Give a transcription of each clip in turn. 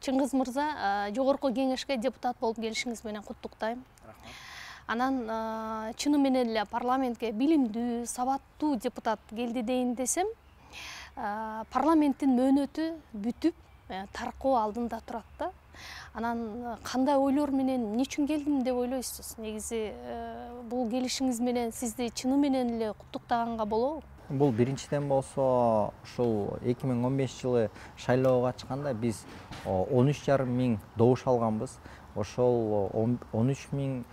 Чыңгыз мырза, жогорку кеңешке депутат болуп келишиңиз менен куттуктайм. Анан чыны менен эле парламентке билимдүү, сабаттуу депутат келди дейин десем, парламенттин мөөнөтү бүтүп, таркоо алдында турат да. Анан кандай ойлор менен, эмне үчүн келдим деп ойлойсуз? Негизи бул келишиңиз менен сизди чыны менен эле куттуктаганга болобу? Бул биринчиден болсо, ушул 2015-жылы шайлоого катышканда биз 13,5 миң добуш алганбыз. Ошол 13,5 миң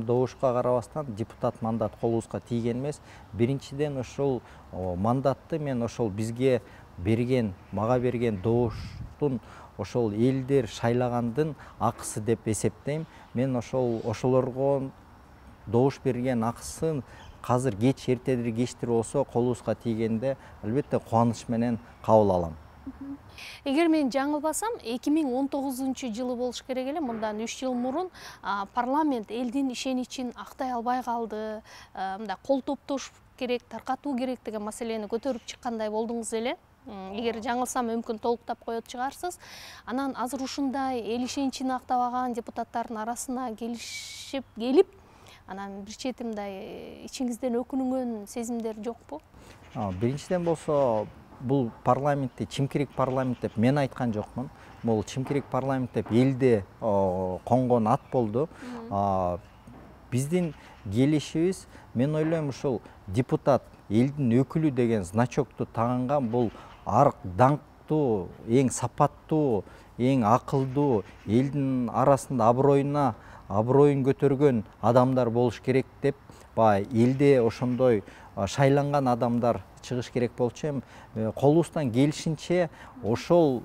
добушка карабастан депутат мандат колубузга тийген эмес. Биринчиден ушул мандатты мен ошол бизге берген, мага берген добуштун ошол элдер шайлагандын акысы деп эсептейм. Мен ошолорго добуш берген акысын азыр кеч эртедир кечтир болсо колубузга тийгенде албетте кубаныч менен кабыл алам. Эгер мен жаңылбасам, 2019-жылы болуш керек эле, мындан 3 жыл мурун парламент элдин ишеничин актай албай калды, мындай кол топтош керек, таркатуу керек деген маселени көтөрүп чыккандай болдуңуз эле. Эгер жаңылсам, мүмкүн толуктап коет чыгарсыз. Анан азыр ушундай эл ишеничин актабаган депутаттардын арасына келип, анан бир чети мындай ичиңизден өкүнүнгөн сезимдер жокпу? Биринчиден болсо, бул парламентти чимкирик парламент деп мен айткан жокмун. Бул чимкирик парламент деп элде конгон ат болду. Биздин келишибиз, мен ойлойм, ушул депутат элдин өкүлү деген значокту тагынган бул даңктуу, эң сапаттуу, эң акылдуу, элдин арасында аброюн көтөргөн адамдар болуш керек деп, элде ошондой шайланган адамдар чыгыш керек болчу эми. Колубуздан келишинче ошол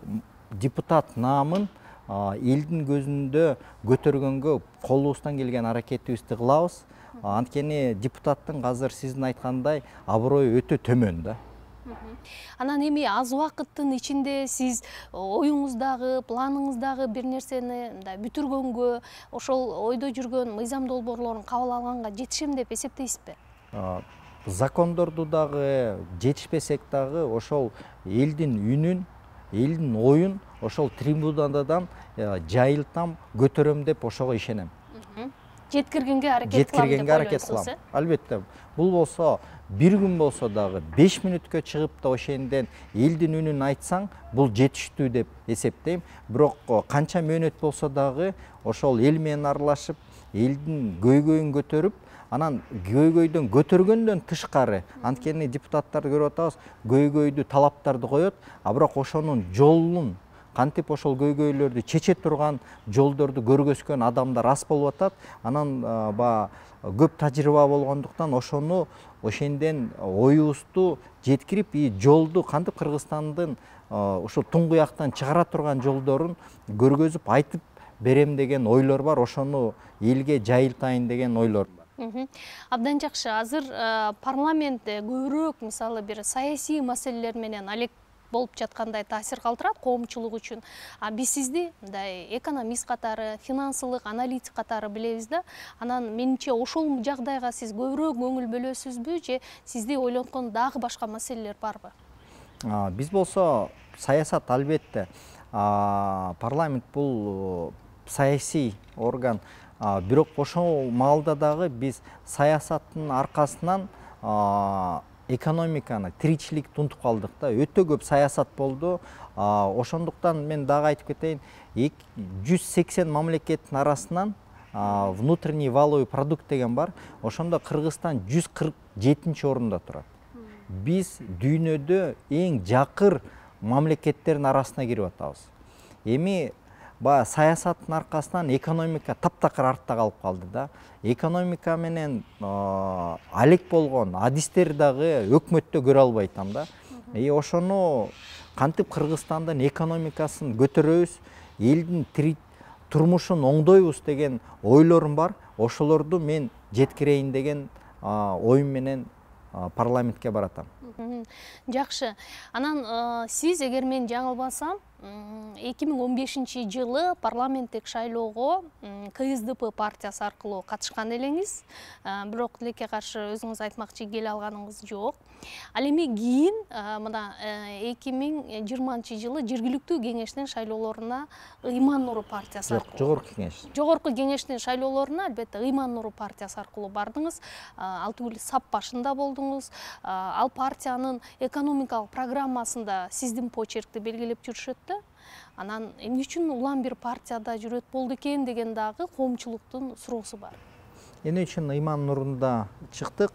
депутат наамын элдин көзүндө көтөргөнгө колубуздан келген аракетибизди кылабыз. Анткени депутаттын азыр сиздин айткандай аброю өтө төмөн да. Анан эми аз убакыттын ичинде сиз оюңуздагы, планыңыздагы бир нерсени бүтүргөнгө, ошол ойдо жүргөн мыйзам долбоорлорун кабыл алганга жетишем деп эсептейсизби? Закондорду дагы жетишпесек дагы ошол элдин үнүн, элдин оюн ошол трибунадан жайылтам, көтөрөм деп ошого ишенем. Жеткиргенге аракет кылам. Албетте. Бул болсо бир күн болсо дагы 5 мүнөткө чыгып да ошенден элдин үнүн айтсаң, бул жетиштүү деп эсептейм. Бирок канча мөөнөт болсо дагы ошол эл менен аралашып, элдин көйгөйүн көтөрүп, анан көйгөйдөн көтөргөндөн тышкары, анткени депутаттарды көрүп атабыз, көйгөйдү, талаптарды коет, бирок ошонун жолун, кантип ошол көйгөйлөрдү чече турган жолдорду көргөзгөн адамдар аз болуп атат. Анан көп тажрыйба болгондуктан ошенден оюбузду жеткирип, жолду кантип Кыргызстандын ошо туңгуяктан чыгара турган жолдорун көргөзүп айтып берем деген ойлор бар. Ошону элге жайылтайын деген ойлор бар. Абдан жакшы. Азыр парламентте көбүрөөк, мисалы, бир саясий маселелер менен алек болуп жаткандай таасир калтырат коомчулук үчүн. Биз сизди мындай экономист катары, финансылык аналитик катары билебиз да. Анан менимче ошол жагдайга сиз көбүрөөк көңүл бөлөсүзбү же сизди ойлонткон дагы башка маселелер барбы? Биз болсо саясат, албетте. Парламент бул саясий орган. Бирок ошол маалда дагы биз саясаттын аркасынан экономиканы, тиричиликти унутуп калдык да. Өтө көп саясат болду. Ошондуктан мен дагы айтып кетейин, 180 мамлекеттин арасынан внутренний валовый продукт деген бар. Ошондо Кыргызстан 147-орунда турат. Биз дүйнөдө эң жакыр мамлекеттердин арасына кирип атабыз. Эми саясаттын аркасынан экономика таптакыр артта калып калды да. Экономика менен алек болгон адистер дагы өкмөттө көрө албайтам да. Ошону кантип Кыргызстандын экономикасын көтөрөбүз, элдин турмушун оңдойбуз деген ойлорум бар. Ошолорду мен жеткирейин деген оюм менен парламентке баратам. Жакшы. Анан сиз, эгер мен жаңылбасам, 2015-жылы парламенттик шайлоого КСДП партиясы аркылуу катышкан элеңиз, бирок тилекке каршы өзүңүз айтмакчы келе алганыңыз жок. Ал эми кийин мына 2020-жылы жергиликтүү кеңештин шайлоолоруна Ыйман Нуру партиясы аркылуу. Жогорку кеңеш. Жогорку кеңештин шайлоолоруна албетте Ыйман Нуру партиясы аркылуу бардыңыз. Ал түгүл сап башында болдуңуз. Ал партиянын экономикалык программасында сиздин почеркти белгилеп жүрүшөт да. Анан эмне үчүн улам бир партияда жүрөт болду экен деген дагы коомчулуктун суроосу бар. Эмне үчүн Ыйман Нурунда чыктык?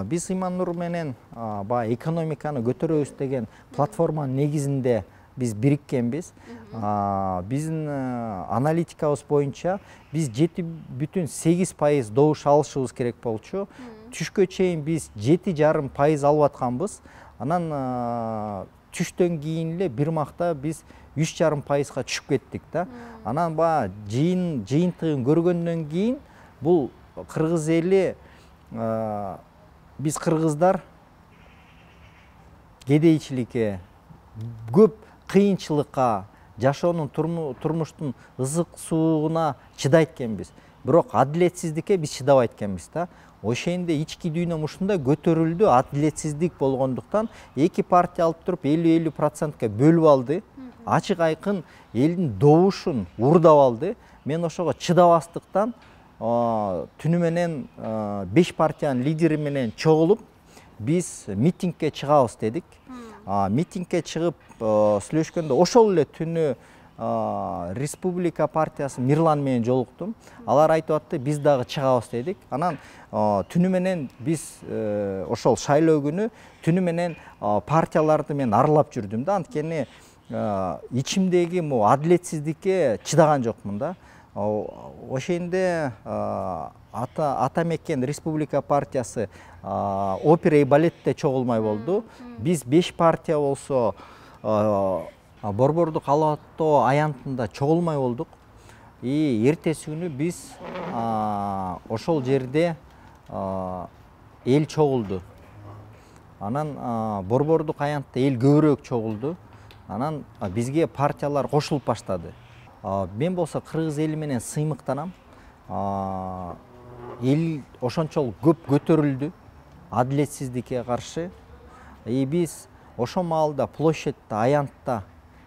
Биз Ыйман Нур менен баягы экономиканы көтөрөбүз деген платформанын негизинде биз бириккенбиз. Биздин аналитикабыз боюнча биз 7,8% добуш алышыбыз керек болчу. Түшкө чейин биз 7,5% алып атканбыз. Анан түштөн кийин эле бир макта биз 3,5%га түшүп кеттик да. Анан баягы жыйынтыгын көргөндөн кийин бул кыргыз эли, биз кыргыздар кедейчиликке, көп кыйынчылыкка, жашоонун турмуштун ызык суугуна чыдайт экенбиз. Бирок адилетсиздикке биз чыдабайт экенбиз да. Ошондо ички дүйнөм ушундай көтөрүлдү, адилетсиздик болгондуктан эки партия алып туруп 50-50%ка бөлүп алды. Ачык айкын элдин добушун уурдап алды. Мен ошого чыдабастыктан түнү менен 5 партиянын лидери менен чогулуп биз митингге чыгабыз дедик. Митингге чыгып сүйлөшкөндө ошол эле түнү Республика партиясы Мирлан менен жолуктум. Алар айтып атты, биз дагы чыгабыз дедик. Анан түнү менен биз ошол шайлоо күнү түнү менен партияларды мен аралап жүрдүм да. Анткени ичимдеги адилетсиздикке чыдаган жокмун да. Ошондо ата мекен Республика партиясы опера и балетте чогулмай болду. Биз 5 партия болсо Борбордук алаттоо аянтында чогулмай болдук. И эртеси күнү биз ошол жерде эл чогулду. Анан Борбордук аянтта эл көбүрөөк чогулду. Анан бизге партиялар кошулуп баштады. Мен болсо кыргыз эли менен сыймыктанам. Эл ошончолук көп көтөрүлдү адилетсиздикке каршы. Биз ошол маалда площадьта, аянтта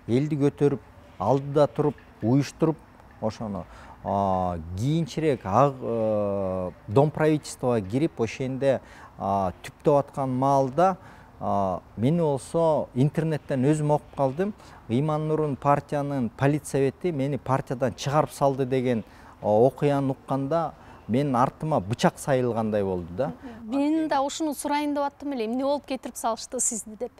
элди көтөрүп, алдыда туруп, уюштуруп, ошону кийинчерээк Дом правительствого кирип, ошондо түптөп аткан маалда мени болсо интернеттен өзүм окуп калдым. Ыйман Нурун партиянын политсовети мени партиядан чыгарып салды деген окуяны укканда менин артыма бычак сайылгандай болду да. Мен да ушуну сурайын деп аттым эле, эмне болуп кетирип салышты сизди деп.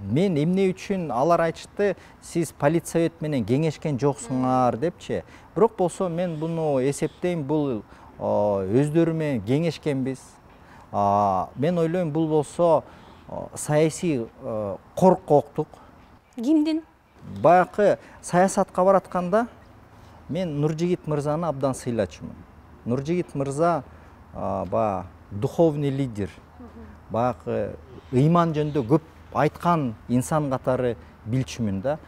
Мен эмне үчүн алар айтышты, сиз политсовет менен кеңешкен жоксуңар депчи. Бирок болсо мен буну эсептейм, бул өздөрү менен кеңешкенбиз. Мен ойлойм, бул болсо саясий коркоктук. Кимдин? Баягы саясатка баратканда мен Нуржигит мырзаны абдан сыйлачумун. Нуржигит мырза баягы духовный лидер. Баягы ыйман жөнүндө көп айткан инсан катары билчүмүн да.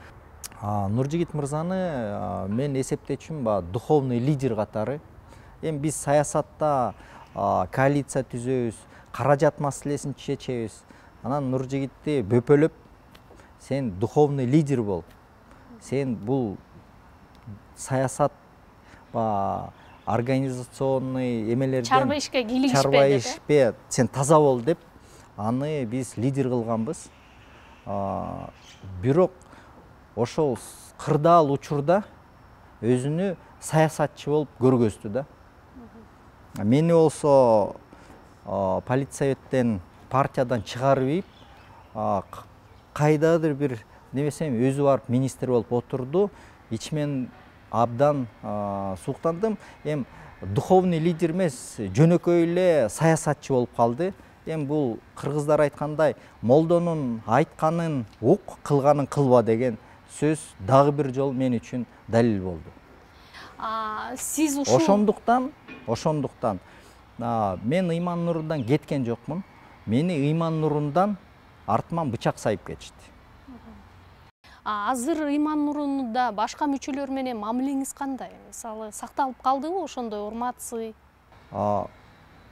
Нуржигит мырзаны мен эсептечүмүн баягы духовный лидер катары. Эми биз саясатта коалиция түзөбүз, каражат маселесин чечебиз. Анан Нуржигитти бөпөлөп, сен духовный лидер бол. Сен бул саясат организационный эмелерден чарба ишке кийлигишпе, чарба ишпе, сен таза бол деп аны биз лидер кылганбыз. Бирок ошол кырдаал учурда өзүнү саясатчы болуп көргөздү да. Мени болсо политсоветтен, партиядан чыгарып ийип, кайдадыр бир немесем өзү барып министр болуп отурду. Ичимен абдан сууктандым. Эми духовный лидер эмес, жөнөкөй эле саясатчы болуп калды. Эми бул кыргыздар айткандай, молдонун айтканын ук, кылганын кылба деген сөз дагы бир жол мен үчүн далил болду. Сиз ушул Ошондуктан мен Ыйман Нурундан кеткен жокмун. Мени Ыйман Нурундан артыман бычак сайып кетишти. Азыр Ыйман Нурунда башка мүчөлөр менен мамилеңиз кандай? Мисалы, сакталып калдыбы ошондой урмат, сый?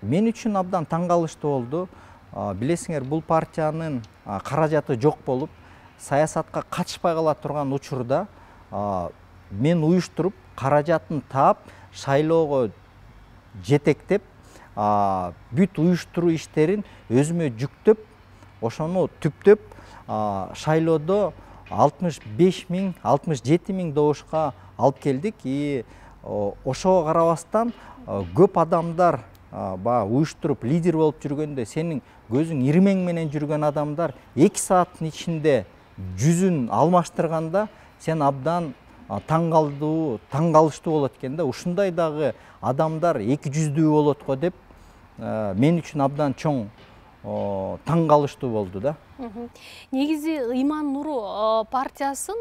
Мен үчүн абдан таң калыштуу болду. Билесиңер, бул партиянын каражаты жок болуп, саясатка катышпай кала турган учурда мен уюштуруп, каражатын таап, шайлоого жетектеп, бүт уюштуруу иштерин өзүмө жүктөп, ошону түптөп, шайлоодо 65 000, 67 000 добушка алып келдик. И ошого карабастан көп адамдар уюштуруп лидер болуп жүргөндө, сенин көзүң ирмең менен жүргөн адамдар 2 сааттын ичинде жүзүн алмаштырганда, сен абдан таң калыштуу болот экен да. Ушундай дагы адамдар 200 болот го деп, мен үчүн абдан чоң таң калыштуу болду да. Негизи Ыйман Нуру партиясын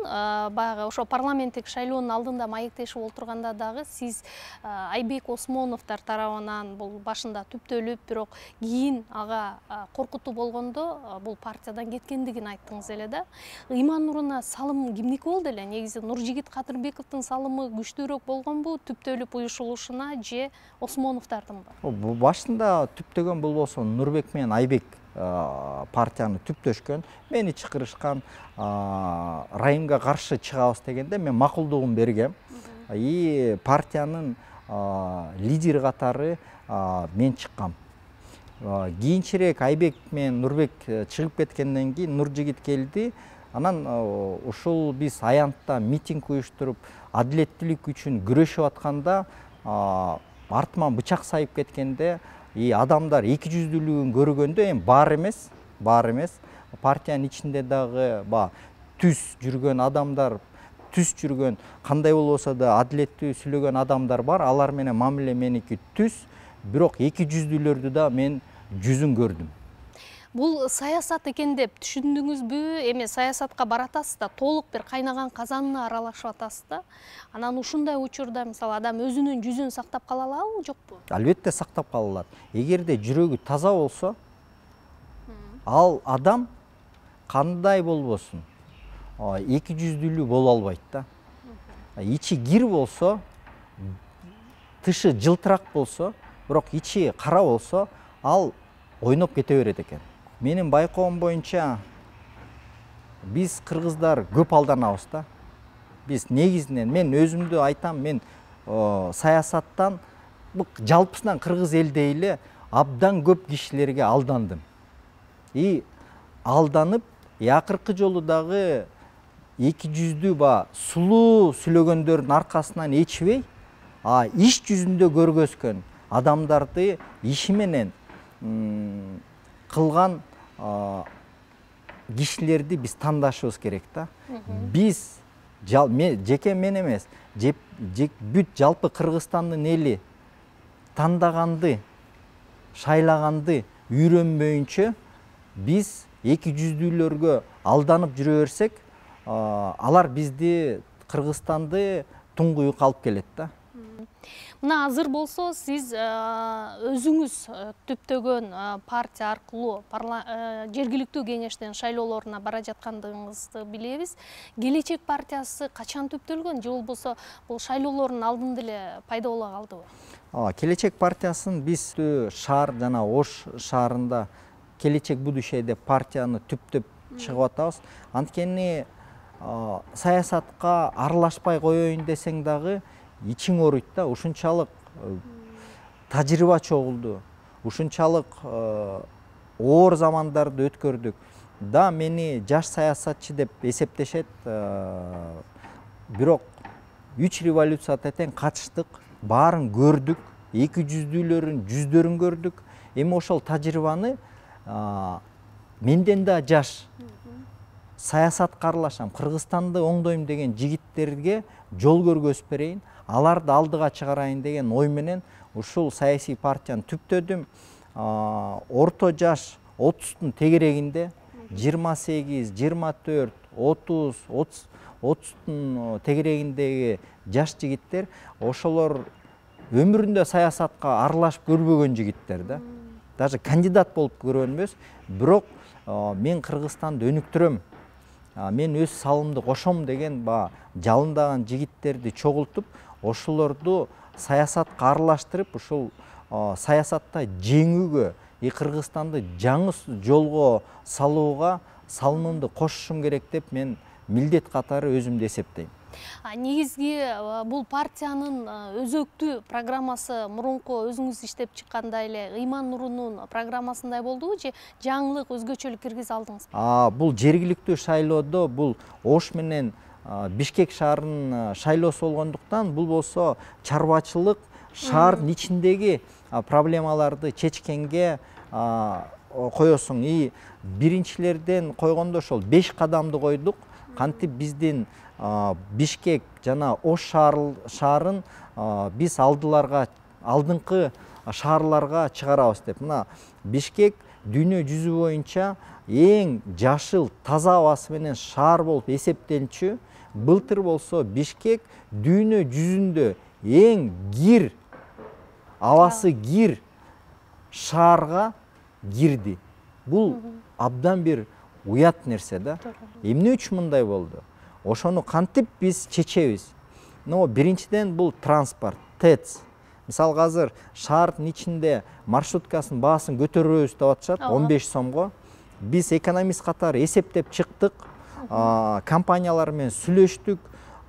баягы ошо парламенттик шайлоонун алдында маектешип отурганда дагы сиз Айбек Осмоновдор тарабынан бул башында түптөлүп, бирок кийин ага коркутуу болгондо бул партиядан кеткендигин айттыңыз эле да. Ыйман Нуруна салым кимдики болду эле? Негизи Нуржигит Кадырбековдун салымы күчтүүрөөк болгонбу түптөлүп уюшулушуна же Осмоновдордунбу? Башында түптөгөн бул болсо Нурбек менен Айбек партияны түптөшкөн, мени чакырышкан, райымга каршы чыгабыз дегенде мен макулдугун бергем. И партиянын лидери катары мен чыккам. Кийинчерээк Айбек менен Нурбек чыгып кеткенден кийин Нуржигит келди. Анан ушул биз аянтта митинг уюштуруп, адилеттүүлүк үчүн күрөшүп атканда, артыман бычак сайып кеткенде, адамдар 200-дүүлүгүн көргөндө, эми бар эмес, партиянын ичинде дагы түз жүргөн адамдар, түз жүргөн, кандай болбосо да адилеттүү сүйлөгөн адамдар бар. Алар менен мамиле меники түз, бирок 200-дүүлөрдү да мен жүзүн көрдүм. Бул саясат экен деп түшүндүңүзбү? Эми саясатка баратасыз да, толук бир кайнаган казанына аралашып атасыз да. Анан ушундай учурда мисалы адам өзүнүн жүзүн сактап кала алабы, жокпу? Албетте сактап кала алат. Эгерде жүрөгү таза болсо, ал адам кандай болбосун 200-дүүлүү боло албайт да. Ичи кир болсо, тышы жылтырак болсо, бирок ичи кара болсо, ал ойноп кете берет экен. Менин байкоом боюнча биз кыргыздар көп алданабыз да. Биз негизинен, мен өзүмдү айтам, мен саясаттан жалпысынан кыргыз элдей эле абдан көп кишилерге алдандым. И алданып, акыркы жолу дагы 200-дүү сулуу сүйлөгөндөрдүн аркасынан ичбей, иш жүзүндө көргөзгөн адамдарды иши менен кылган кишилерди биз тандашыбыз керек да. Биз жеке мен эмес, бүт жалпы Кыргызстандын эли тандаганды, шайлаганды үйрөнбөйүнчө биз 200-дүүлөргө алданып жүрө берсек, алар бизди, Кыргызстанды туңгуюк алып келет да. Мына азыр болсо сиз өзүңүз түптөгөн партия аркылуу жергиликтүү кеңештин шайлоолоруна бара жаткандыгыңызды билебиз. Келечек партиясы качан түптөлгөн же болбосо бул шайлоолордун алдында эле пайда боло калдыбы? Келечек партиясын биз шаар жана Ош шаарында Келечек будущее деп партияны түптөп чыгып атабыз. Анткени саясатка аралашпай коеюн десең дагы ичиң ооруйт да. Ушунчалык тажрыйба чогулду, ушунчалык оор замандарды өткөрдүк. Да, мени жаш саясатчы деп эсептешет, бирок 3 революцияга тең катыштык, баарын көрдүк, 200-дүүлөрүн, жүздөрүн көрдүк. Эми ошол тажрыйбаны менден да жаш саясатка аралашам, Кыргызстанды оңдойм деген жигиттерге жол көргөзүп берейин, аларды алдыга чыгарайын деген ой менен ушул саясий партияны түптөдүм. Орто жаш 30-тун тегерегинде 28, 24, 30, 30-тун тегерегиндеги жаш жигиттер, ошолор өмүрүндө саясатка аралашып көрбөгөн жигиттер да. Даже кандидат болуп көргөн эмес, бирок мен Кыргызстанды өнүктүрөм, мен өз салымды кошом деген баягы жалындаган жигиттерди чогултуп, ошолорду саясатка аралаштырып, ушул саясатта жеңүүгө, Кыргызстанды жаңы жолго салууга салымымды кошушум керек деп мен милдет катары өзүмдү эсептейм. Негизги бул партиянын өзөктүү программасы мурунку өзүңүз иштеп чыккандай эле Ыйман Нурунун программасындай болдубу же жаңылык, өзгөчөлүк киргизе алдыңызбы? Бул жергиликтүү шайлоодо бул Ош менен Бишкек шаарынын шайлоосу болгондуктан, бул болсо чарбачылык шаардын ичиндеги проблемаларды чечкенге коесуң. И биринчилерден койгондо ошол 5 кадамды койдук. Кантип биздин Бишкек жана Ош шаарын биз алдыңкы шаарларга чыгарабыз деп. Мына Бишкек дүйнө жүзү боюнча эң жашыл, таза абасы менен шаар болуп эсептелчү. Былтыр болсо Бишкек дүйнө жүзүндө эң кир, абасы кир шаарга кирди. Бул абдан бир уят нерсе да. Эмне үчүн мындай болду? Ошону кантип биз чечебиз? Биринчиден бул транспорт, ТЭЦ. Мисалы азыр шаардын ичинде маршруткасынын баасын көтөрөбүз деп атышат, 15 сомго. Биз экономист катары эсептеп чыктык, компаниялар менен сүйлөштүк.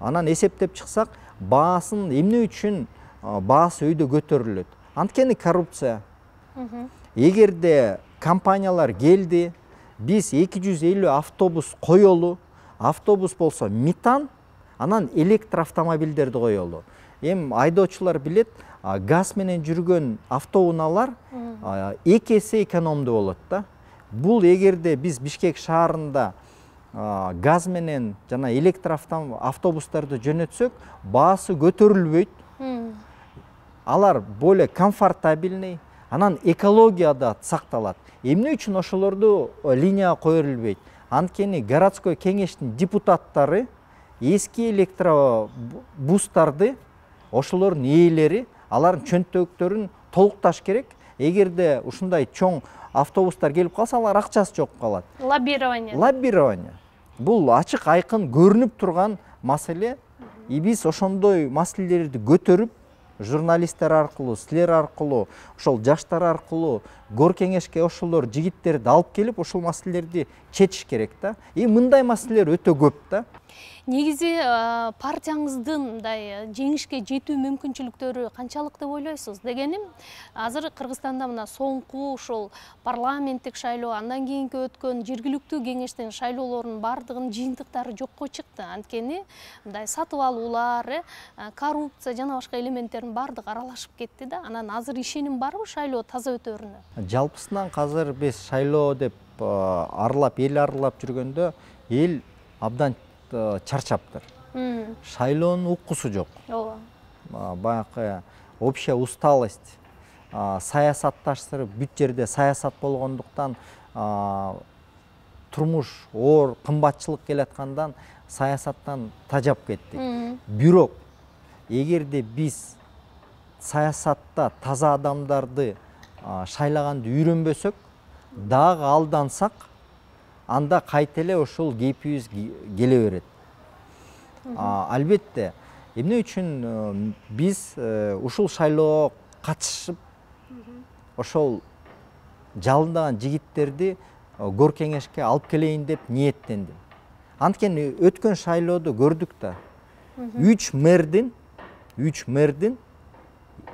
Анан эсептеп чыксак, баасын эмне үчүн баасы өйдө көтөрүлөт? Анткени коррупция. Эгерде компаниялар келди, биз 250 автобус коелу, автобус болсо метан, анан электроавтомобилдерди коелу. Айдоочулар билет, газ менен жүргөн автоунаалар 2 эсе экономдуу болот да. Бул эгерде биз Бишкек шаарында газ менен жана электроавтобустарды жөнөтсөк, баасы көтөрүлбөйт. Алар более комфортабельный, анан экология да сакталат. Эмне үчүн ошолорду линияга коюлбайт? Анткени городской кеңештин депутаттары эски электробустарды, ошолордун ээлери, алардын чөнтөктөрүн толукташ керек. Эгерде ушундай чоң автобустар келип калса, алар акчасы жок калат. Лоббирование. Бул ачык айкын көрүнүп турган маселе. Биз ошондой маселелерди көтөрүп, журналисттер аркылуу, силер аркылуу, ошол жаштар аркылуу гор кеңешке ошолор жигиттерди алып келип, ошол маселелерди чечиш керек да. Мындай маселелер өтө көп да. Негизи партияңыздын мындай жеңишке жетүү мүмкүнчүлүктөрү канчалык деп ойлойсуз? Дегеним, азыр Кыргызстанда мына соңку ошол парламенттик шайлоо, андан кийинки өткөн жергиликтүү кеңештин шайлоолорунун бардыгынын жыйынтыктары жокко чыкты. Анткени мындай сатып алуулар, коррупция жана башка элементтердин бардыгы аралашып кетти да. Анан азыр ишеним барбы шайлоо таза өтөрүнө? Жалпысынан азыр биз шайлоо деп эл аралап жүргөндө, эл абдан чарчаптыр. Шайлоонун уккусу жок. Баягы общая усталость, саясатташтырып, бүт жерде саясат болгондуктан, турмуш оор, кымбатчылык келаткандан саясаттан тажап кеттик. Бирок эгерде биз саясатта таза адамдарды шайлаганды үйрөнбөсөк, дагы алдансак, анда кайта эле ошол кейпибиз келе берет. Албетте, эмне үчүн биз ушул шайлоого катышып, ошол жалындаган жигиттерди гор кеңешке алып келейин деп ниеттендим. Анткени өткөн шайлоодо көрдүк да. 3 мэрдин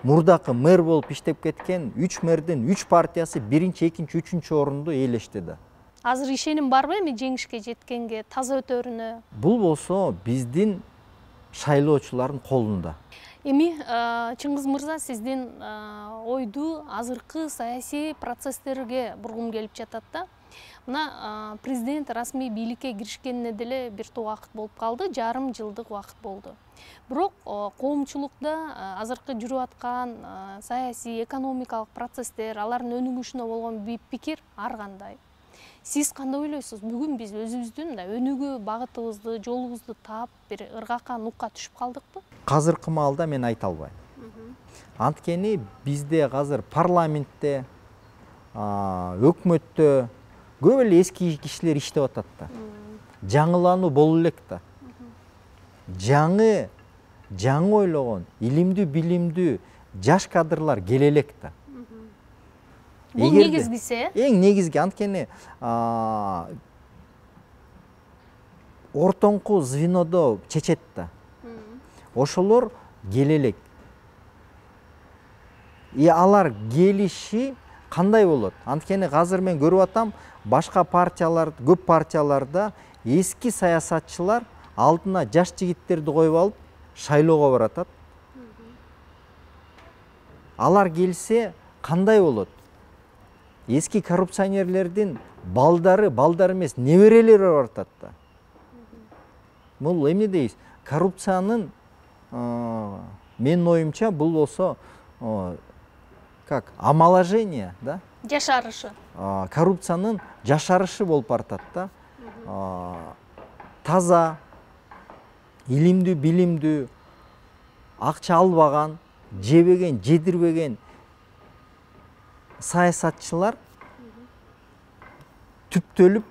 мурдакы мэр болуп иштеп кеткен 3 мэрдин 3 партиясы 1-2, 3-3 орунду ээлешти да. Азыр ишеним барбы эми жеңишке жеткенге, таза өтөрүнө? Бул болсо биздин шайлоочулардын колунда. Эми Чыңгыз мырза, сиздин ойду азыркы саясий процесстерге бургум келип жатат да. Мына президент расмий бийликке киришкенине деле бир топ убакыт болуп калды, жарым жылдык убакыт болду. Бирок коомчулукта азыркы жүрүп аткан саясий, экономикалык процесстер, алардын өнүгүшүнө болгон пикир ар кандай? Сиз кандай ойлойсуз? Бүгүн биз өзүбүздүн өнүгүү багытыбызды, жолубузду таап, бир ыргакка, нукка түшүп калдыкпы? Азыркы маалда мен айта албайм. Анткени бизде азыр парламентте, өкмөттө көп эле эски кишилер иштеп атат да. жаңылануу боло элек да. Жаңы ойлогон, илимдүү, билимдүү жаш кадрлар келе элек да. Бул негизгиси. Эң негизги анткени ортоңку звенодо чечет да. Ошолор келе элек. Алар келиши кандай болот? Анткени азыр мен көрүп атам, башка партиялар, көп партияларда эски саясатчылар алдына жаш жигиттерди коюп алып шайлоого баратат. Алар келсе кандай болот? Эски коррупционерлердин балдар эмес, неберелери баратат да. Бул эмне дейбиз? Коррупциянын менин оюмча бул болсо как омоложение, да? Жашарышы. Коррупциянын жашарышы болуп баратат да. Таза, илимдүү, билимдүү, акча албаган, жебеген, жедирбеген саясатчылар түптөлүп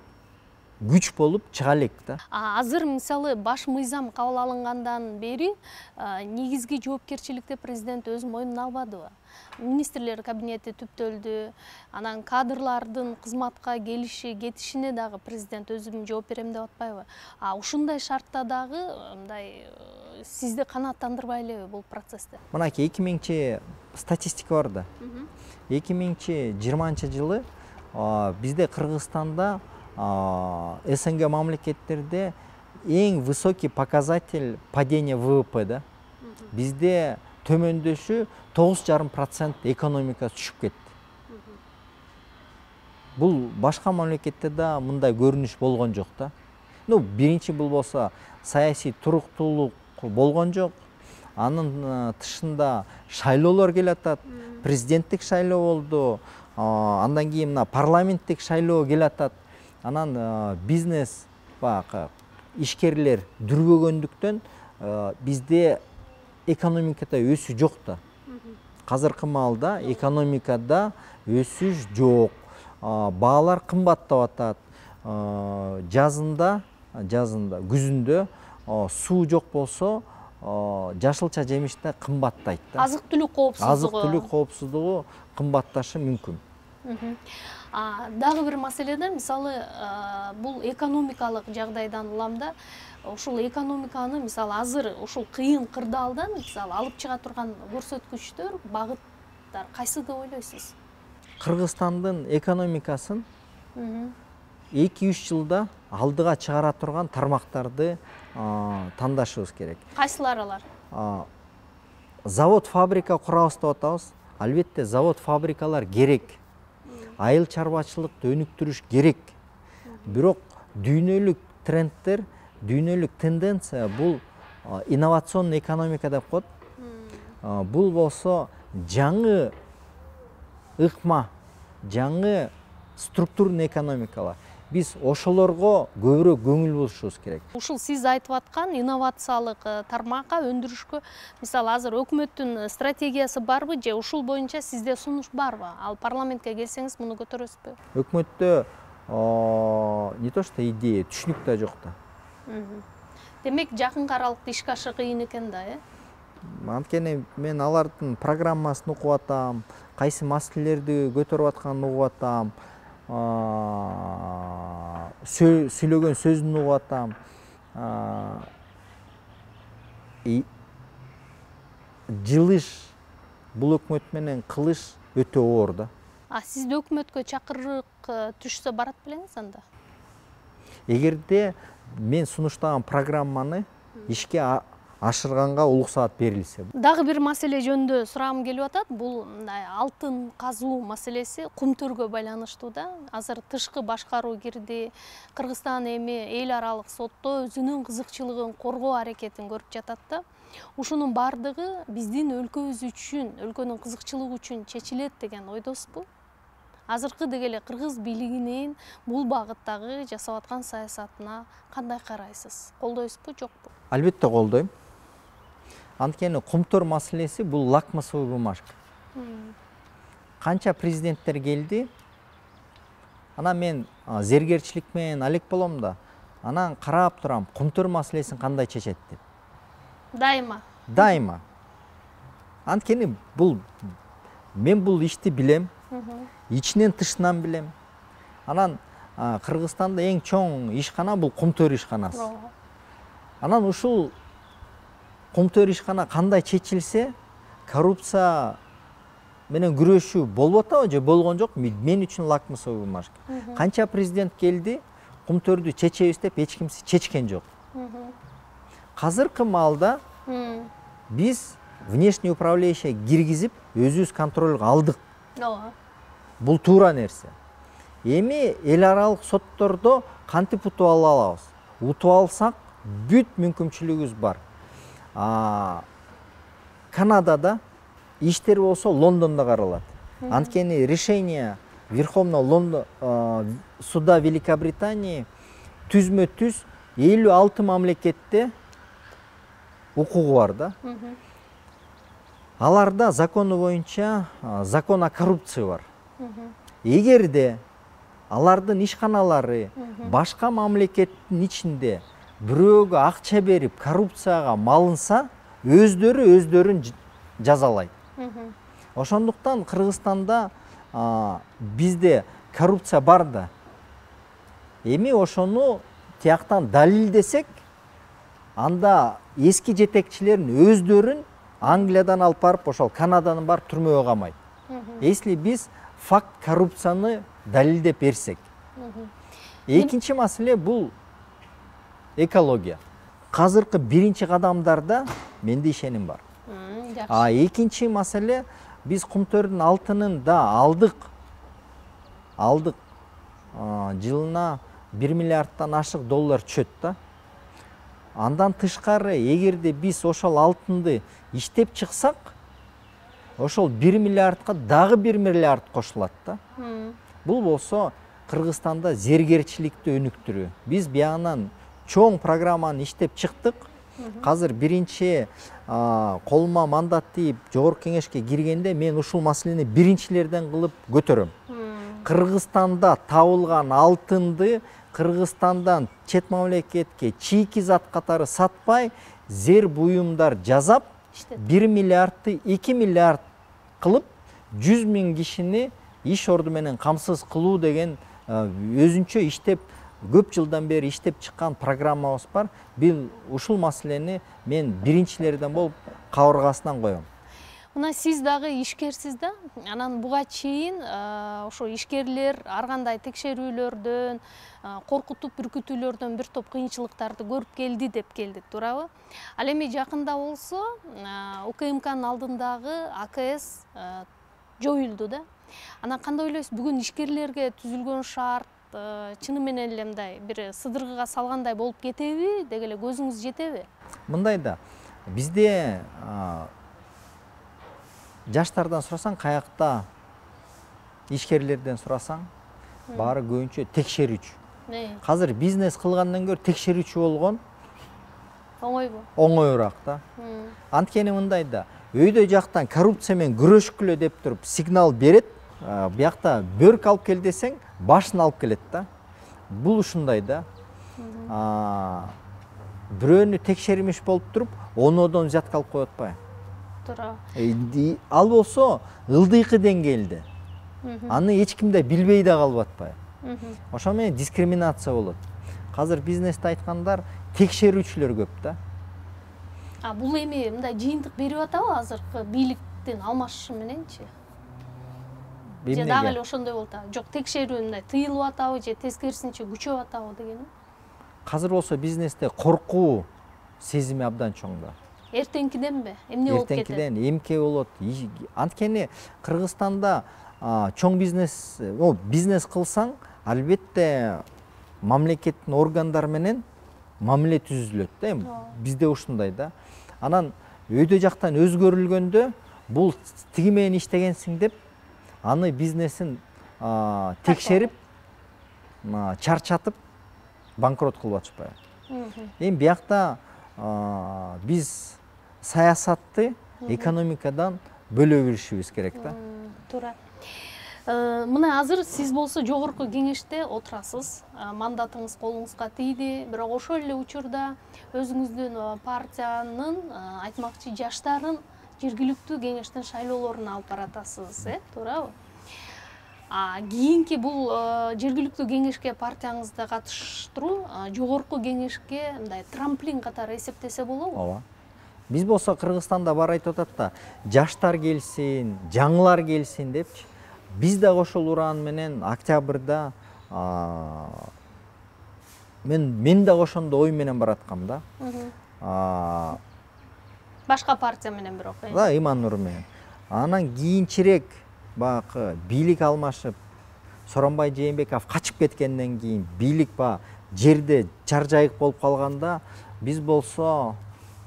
күч болуп чыга элек да. Азыр мисалы баш мыйзам кабыл алынгандан бери негизги жоопкерчиликти президент өз мойнуна албадыбы? Министрлер кабинети түптөлдү, анан кадрлардын кызматка келиши, кетишине дагы президент өзүм жооп берем деп атпайбы? Ушундай шартта дагы мындай сизди канааттандырбай элеби бул процессте? Мынакей 2000 статистика бар да. 2020 жылы бизде Кыргызстанда СНГ мамлекеттерде эң высокий показатель падения ВВП да. Бизде төмөндөшү 9,5% экономика түшүп кетти. Бул башка мамлекетте да мындай көрүнүш болгон жок да. Биринчи бул болсо саясий туруктуулук болгон жок. Анын тышында шайлоолор келатат. Президенттик шайлоо болду. Андан кийин мына парламенттик шайлоо келатат. Анан бизнес баягы ишкерлер дүрбөгөндүктөн бизде экономикада өсүү жок да. Азыркы маалда экономикада өсүш жок. Баалар кымбаттап атат. Жазында, күзүндө суу жок болсо, жашылча жемиштер кымбаттайт да. Азык-түлүк коопсуздугу. Азык-түлүк коопсуздугу кымбатташы мүмкүн. Дагы бир маселеде мисалы бул экономикалык жагдайдан уламда ушул экономиканы мисалы азыр ушул кыйын кырдаалдан мисалы алып чыга турган көрсөткүчтөр, багыттар кайсы деп ойлойсуз? Кыргызстандын экономикасын 2-3 жылда алдыга чыгара турган тармактарды тандашыбыз керек. Кайсылар алар? Завод, фабрика курабыз деп атабыз. Албетте завод, фабрикалар керек. Айыл чарбачылыкты өнүктүрүш керек. Бирок дүйнөлүк трендтер, дүйнөлүк тенденция бул инновационный экономика деп коет. Бул болсо жаңы ыкма, жаңы структурный экономикалар. Биз ошолорго көбүрөөк көңүл бурушубуз керек. Ушул сиз айтып аткан инновациялык тармакка өндүрүшкө мисалы азыр өкмөттүн стратегиясы барбы же ушул боюнча сизде сунуш барбы? Ал парламентке келсеңиз муну көтөрөсүзбү? Өкмөттө не то что идея, түшүнүк да жок да. Демек жакынкы аралыкта ишке ашы кыйын экен да, Анткени мен алардын программасын окуп атам, кайсы маселелерди көтөрүп атканын угуп атам. Сүйлөгөн сөзүн угуп атам. Жылыш бул өкмөт менен кылыш өтө оор да. Сизде өкмөткө чакырык түшсө барат белеңиз анда? Эгерде мен сунуштаган программаны ишке ашырганга уруксаат берилсе. Дагы бир маселе жөнүндө сурагым келип атат. Бул алтын казуу маселеси кумтөргө байланыштуу да. Азыр тышкы башкаруу кирди. Кыргызстан эми эл аралык сотто өзүнүн кызыкчылыгын коргоо аракетин көрүп жатат да. Ушунун бардыгы биздин өлкөбүз үчүн, өлкөнүн кызыкчылыгы үчүн чечилет деген ойдосузбу? Азыркы деле кыргыз бийлигинин бул багыттагы жасап аткан саясатына кандай карайсыз? Колдойсузбу, жокпу? Албетте колдойм. Анткени кумтөр маселеси бул лакмусовый бумажка. Канча президенттер келди. Анан мен зергерчилик менен алек болом да. Анан карап турам, Кумтөр маселесин кандай чечет деп. Дайыма. Анткени мен бул ишти билем, ичинен тышынан билем. Анан Кыргызстанда эң чоң ишкана бул Кумтөр ишканасы. Анан ушул Кумтөр ишкана кандай чечилсе, коррупция менен күрөшүү болуп атабы же болгон жок? Мен үчүн лакмусовый бумажка. Канча президент келди, Кумтөрдү чечебиз деп эч кимси чечкен жок. Азыркы маалда биз внешний управляющий киргизип, өзүбүз контролго алдык. Бул туура нерсе. Эми эл аралык соттордо кантип утуп ала алабыз? Утуп алсак, бүт мүмкүнчүлүгүбүз бар. Канадада иштер болсо Лондондо каралат. Анткени решение Верховного суда Великобритании түзмө-түз 56 мамлекетте укугу бар да. Аларда закону боюнча закон о коррупции бар. Эгерде алардын ишканалары башка мамлекеттин ичинде бирөөгө акча берип коррупцияга малынса, өздөрүн жазалайт. Ошондуктан Кыргызстанда бизде коррупция бар да. Эми ошону тияктан далилдесек, анда эски жетекчилерин өздөрүн Англиядан алып барып, ошол Канададан барып түрмөгө камайт. Если биз факт коррупцияны далилдеп берсек. Экинчи маселе бул экология. Азыркы биринчи кадамдарда менде ишеним бар. Экинчи маселе, биз Кумтөрдүн алтынын да алдык. Жылына 1 миллиардтан ашык доллар түшөт да. Андан тышкары, эгерде биз ошол алтынды иштеп чыксак, ошол 1 миллиардка дагы 1 миллиард кошулат да. Бул болсо Кыргызстанда зергерчиликти өнүктүрүү. Биз биягынан чоң программаны иштеп чыктык. Азыр биринчи колума мандат тийип жогорку кеңешке киргенде мен ушул маселени биринчилерден кылып көтөрөм. Кыргызстанда табылган алтынды Кыргызстандан чет мамлекетке чийки зат катары сатпай, зер буюмдар жасап, 1 миллиардты 2 миллиард кылып, 100 000 кишини иш орду менен камсыз кылуу деген өзүнчө иштеп, көп жылдан бери иштеп чыккан программабыз бар. Бул ушул маселени мен биринчилерден болуп кабыргасынан коем. Мына сиз дагы ишкерсиз да. Анан буга чейин ошо ишкерлер ар кандай текшерүүлөрдөн, коркутуп бүркүтүүлөрдөн бир топ кыйынчылыктарды көрүп келди деп келдик, туурабы? Ал эми жакында болсо УКМКнын алдындагы АКС жоюлду да. Анан кандай ойлойсуз, бүгүн ишкерлерге түзүлгөн шарт чыны менен эле мындай бир сыдыргыга салгандай болуп кетеби, деги эле көзүңүз жетеби? Мындай да, бизде жаштардан сурасаң, каякта ишкерлерден сурасаң, баары көбүнчө текшерүүчү. Азыр бизнес кылгандан көрө текшерүүчү болгон оңойбу? Оңоюраак да. Анткени мындай да, өйдө жактан коррупция менен күрөшкүлө деп туруп сигнал берет, биякта бөрк алып кел десең, башын алып келет да. Бул ушундай да. Бирөөнү текшермиш болуп туруп, онодон взятка алып коюп атпайбы? Туура. Ал болсо ылдыйкы деңгээлде. Аны эч ким да билбей да калып атпайбы? Ошо менен дискриминация болот. Азыр бизнесте айткандар текшерүүчүлөр көп да. Бул эми мындай жыйынтык берип атабы азыркы бийликтин алмашышы мененчи? Же дагы эле ошондой болуп атабы? Жок, текшерүү мындай тыйылып атабы же тескерисинче күчөп атабы дегеним? Азыр болсо бизнесте коркуу сезими абдан чоң да. Эртеңкиденби? Эмне болуп кетет? Эртеңкиден эмке болот. Анткени Кыргызстанда чоң бизнес кылсаң, албетте мамлекеттин органдары менен мамиле түзүлөт да. Бизде ушундай да. Анан өйдө жактан өзгөрүлгөндө бул тиги менен иштегенсиң деп, аны бизнесин текшерип, чарчатып, банкрот кылып атышпайбы? Эми биякта биз саясатты экономикадан бөлө билишибиз керек да. Туура. Мына азыр сиз болсо жогорку кеңеште отурасыз, мандатыңыз колуңузга тийди, бирок ошол эле учурда өзүңүздүн партиянын айтмакчы жаштарын жергиликтүү кеңештин шайлоолоруна алып баратасыз, туурабы? Кийинки бул жергиликтүү кеңешке партияңызды катыштыруу жогорку кеңешке мындай трамплин катары эсептесе болобу? Ооба. Биз болсо Кыргызстанда бар айтып атат да, жаштар келсин, жаңылар келсин депчи. Биз дагы ошол уран менен октябрда мен дагы ошондой ой менен бараткам да. Башка партия менен бирок. Да, Иман Нур менен. Анан кийинчерээк баягы бийлик алмашып, Сооронбай Жээнбеков качып кеткенден кийин бийлик жерде чаржайык болуп калганда, биз болсо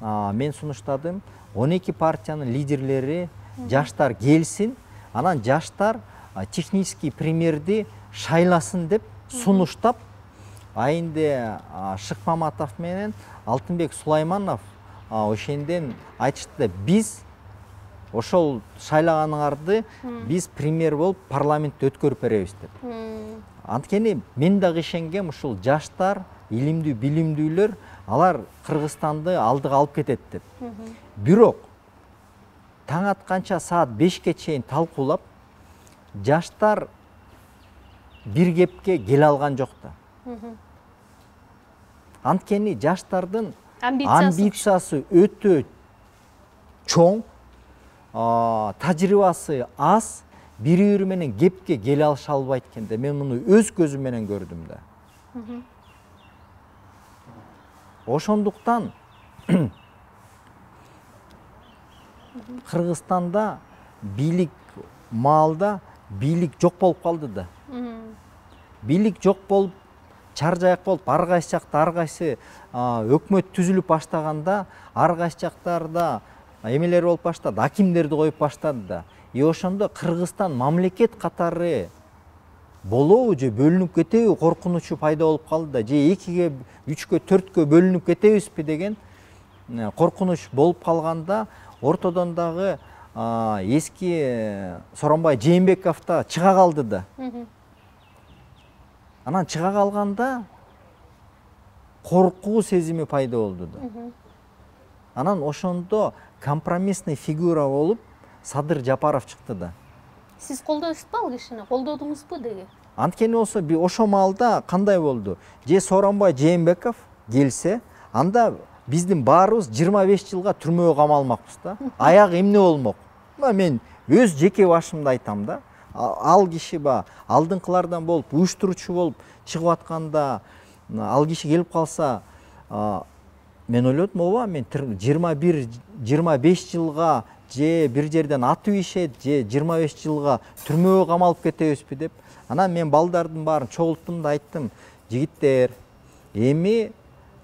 мен сунуштадым, 12 партиянын лидерлери жаштар келсин, анан жаштар технический премьерди шайласын деп сунуштап, айында Шыкмаматов менен Алтынбек Сулайманов ошенден айтышты, биз ошол шайлаганыңарды биз премьер болуп парламентте өткөрүп беребиз деп. Анткени мен дагы ишенгем, ушул жаштар, илимдүү, билимдүүлөр, алар Кыргызстанды алдыга алып кетет деп. Бирок таң атканча саат 5ке чейин талкуулап, жаштар бир кепке келе алган жок да. Анткени жаштардын амбициясы өтө чоң, тажрыйбасы аз, бири-бири менен кепке келе алыша албайт экен да. Мен муну өз көзүм менен көрдүм да. Ошондуктан Кыргызстанда бийлик маалда бийлик жок болуп калды да. Бийлик жок болуп, чаржаяк болуп, ар кайсы жакта ар кайсы өкмөт түзүлүп баштаганда, ар кайсы жактарда эмелер болуп баштады, акимдерди коюп баштады да. Ошондо Кыргызстан мамлекет катары болобу же бөлүнүп кетеби коркунучу пайда болуп калды да. Же 2ге, 3кө, 4кө бөлүнүп кетебизби деген коркунуч болуп калганда, ортодон дагы эски Сооронбай Жээнбеков да чыга калды да. Анан чыга калганда коркуу сезими пайда болду да. Анан ошондо компромиссный фигура болуп Садыр Жапаров чыкты да. Сиз колдойсузбу ал кишини? Колдодуңузбу деги? Анткени болсо ошо маалда кандай болду? Же Сооронбай Жээнбеков келсе, анда биздин баарыбыз 25 жылга түрмөгө камалмакпыз да. Аяк эмне болмок? Мен өз жеке башымда айтам да. Ал киши алдыңкылардан болуп, уюштуруучу болуп чыгып атканда, ал киши келип калса, мен ойлодум, ооба, мен 21-25 жылга же бир жерден атып ишет, же 25 жылга түрмөгө камалып кетебизби деп. Анан мен балдардын баарын чогулттум да айттым, жигиттер, эми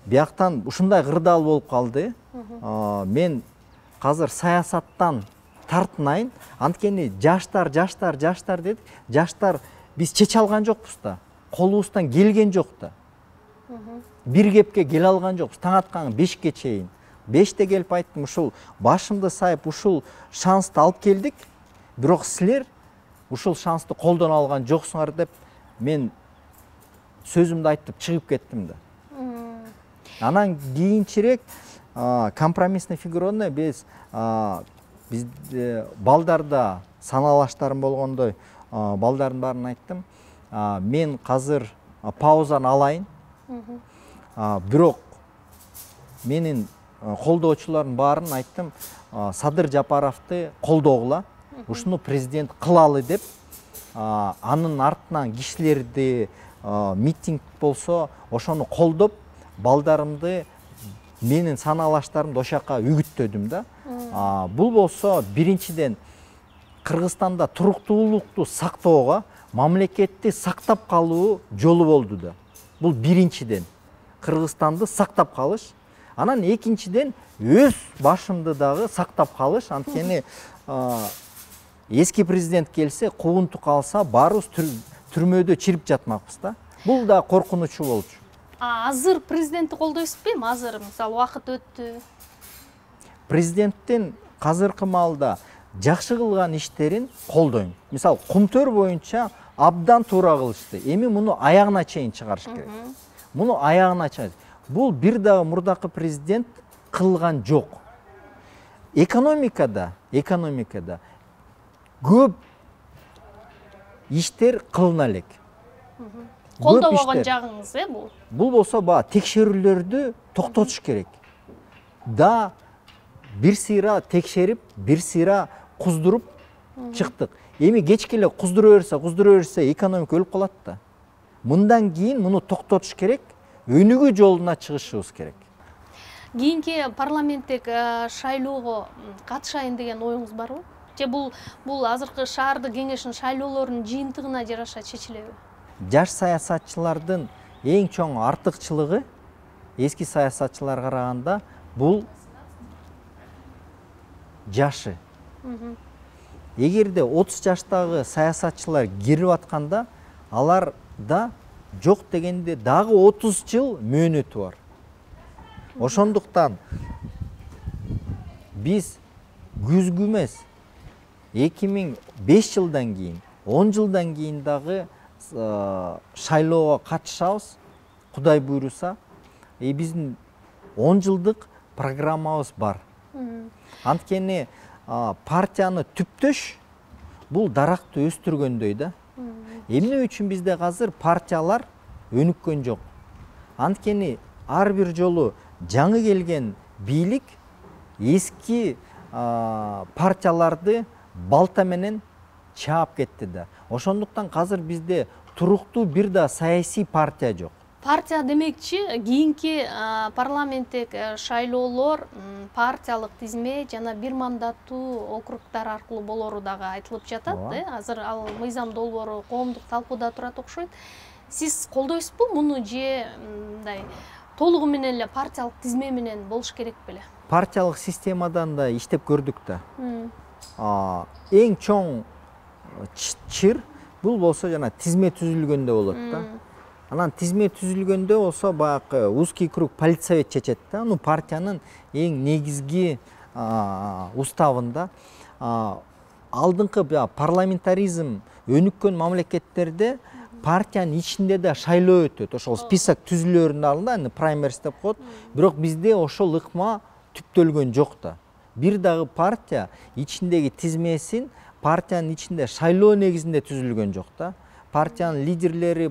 бияктан ушундай кырдаал болуп калды. Мен азыр саясаттан тартынайын, анткени жаштар дедик. Жаштар биз чече алган жокпуз да. Колубуздан келген жок да. Бир кепке келе алган жокпуз. Таң аткан 5ке чейин. 5те келип айттым, ушул башымды сайып ушул шансты алып келдик, бирок силер ушул шансты колдоно алган жоксуңар деп мен сөзүмдү айтып чыгып кеттим да. Анан кийинчерээк компромиссный фигураны биз балдарда саналаштарым болгондой балдардын баарын айттым. Мен азыр паузаны алайын. Бирок менин колдоочулардын баарын айттым, Садыр Жапаровду колдогула, ушуну президент кылалы деп, анын артынан кишилерди, митинг болсо ошону колдоп, балдарымды, менин саналаштарымды ошака үгүттөдүм да. Бул болсо биринчиден Кыргызстанда туруктуулукту сактоого, мамлекетти сактап калуу жолу болду да. Бул биринчиден Кыргызстанды сактап калыш. Анан экинчиден өз башымды дагы сактап калыш. Анткени эски президент келсе, куунту калса, баарыбыз түрмөдө чирип жатмакпыз да. Бул да коркунучу болчу. Азыр президентти колдойсузбу эми? Азыр мисалы убакыт өттү. Президенттин азыркы маалда жакшы кылган иштерин колдойм. Мисалы, Кумтөр боюнча абдан туура кылышты. Эми муну аягына чейин чыгарыш керек. Муну аягына чейин. Бул бир дагы мурдакы президент кылган жок. Экономикада көп иштер кылына элек. Колдобогон жагыңыз бул? Бул болсо текшерүүлөрдү токтотуш керек. Да бир сыйра текшерип, бир сыйра куздуруп чыктык. Эми кечке эле куздура берсе, экономика өлүп калат да. Мындан кийин муну токтотуш керек, өнүгүү жолуна чыгышыбыз керек. Кийинки парламенттик шайлоого катышайын деген оюңуз барбы? Же бул азыркы шаардык кеңештин шайлоолорунун жыйынтыгына жараша чечилеби? Жаш саясатчылардын эң чоң артыкчылыгы эски саясатчыларга караганда бул жашы. Эгерде 30 жаштагы саясатчылар кирип атканда, аларда жок дегенде дагы 30 жыл мөөнөтү бар. Ошондуктан биз күзгү эмес 2005 жылдан кийин, 10 жылдан кийин дагы шайлоого катышабыз, Кудай буйруса. Биздин 10 жылдык программабыз бар. Анткени партияны түптөш бул даракты өстүргөндөй да. Эмне үчүн бизде азыр партиялар өнүккөн жок? Анткени ар бир жолу жаңы келген бийлик эски партияларды балта менен чаап кетти да. Ошондуктан азыр бизде туруктуу бир да саясий партия жок. Партия демекчи, кийинки парламенттик шайлоолор партиялык тизме жана бир мандаттуу округдар аркылуу болору дагы айтылып жатат. Азыр ал мыйзам долбоору коомдук талкууда турат окшойт. Сиз колдойсузбу муну же мындай толугу менен эле партиялык тизме менен болуш керек беле? Партиялык системадан да иштеп көрдүк да. Эң чоң чыр бул болсо жана тизме түзүлгөндө болот да. Анан тизме түзүлгөндө болсо баягы узкий круг политсовет чечет да. Аны партиянын эң негизги уставында алдыңкы парламентаризм өнүккөн мамлекеттерде партиянын ичинде да шайлоо өтөт. Ошол список түзүлөрүнүн алдында праймерис деп коет. Бирок бизде ошол ыкма түптөлгөн жок да. Бир дагы партия ичиндеги тизмесин партиянын ичинде шайлоо негизинде түзүлгөн жок да. Партиянын лидерлери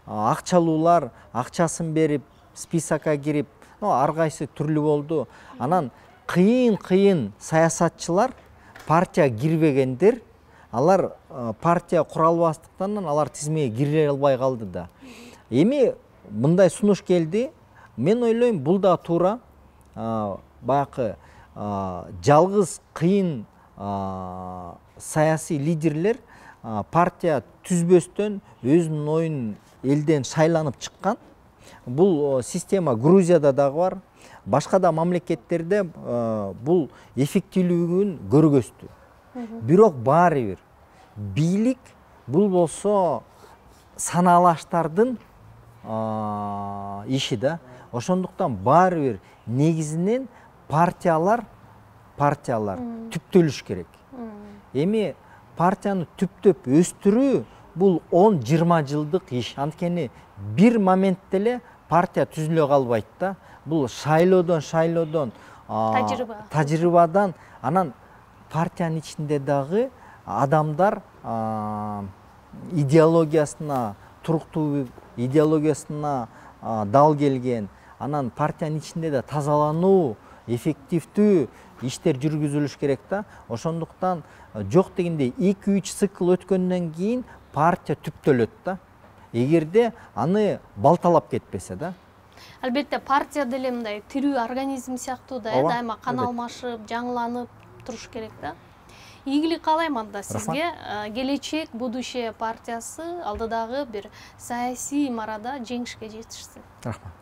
акчалуулар акчасын берип, списокко кирип, ар кайсы түрлүү болду. Анан кыйын саясатчылар партия кирбегендер, алар партия кура албастыктан алар тизмеге кире албай калды да. Эми мындай сунуш келди. Мен ойлойм, бул да туура. Баягы жалгыз кыйын саясий лидерлер партия түзбөстөн өзүнүн оюн элден шайланып чыккан. Бул система Грузияда дагы бар. Башка да мамлекеттерде бул эффективдүүлүгүн көргөздү. Бирок баары бир бийлик бул болсо санаалаштардын иши да. Ошондуктан баары бир негизинен партиялар түптөлүш керек. Эми партияны түптөп өстүрүү бул 10-20 жылдык иш. Анткени бир моментте эле партия түзүлө калбайт да. Бул шайлоодон тажрыйбадан анан партиянын ичинде дагы адамдар идеологиясына туруктуу, идеологиясына дал келген, анан партиянын ичинде да тазалануу, эффективдүү иштер жүргүзүлүш керек да. Ошондуктан жок дегенде 2-3 цикл өткөндөн кийин партия түптөлөт да. Эгерде аны балталап кетпесе да. Албетте партия деле мындай тирүү организм сыяктуу да, дайыма кан алмашып, жаңыланып туруш керек да. Ийгилик каалайм анда сизге. Келечек будущее партиясы алдыдагы бир саясий марада жеңишке жетишсин. Рахмат.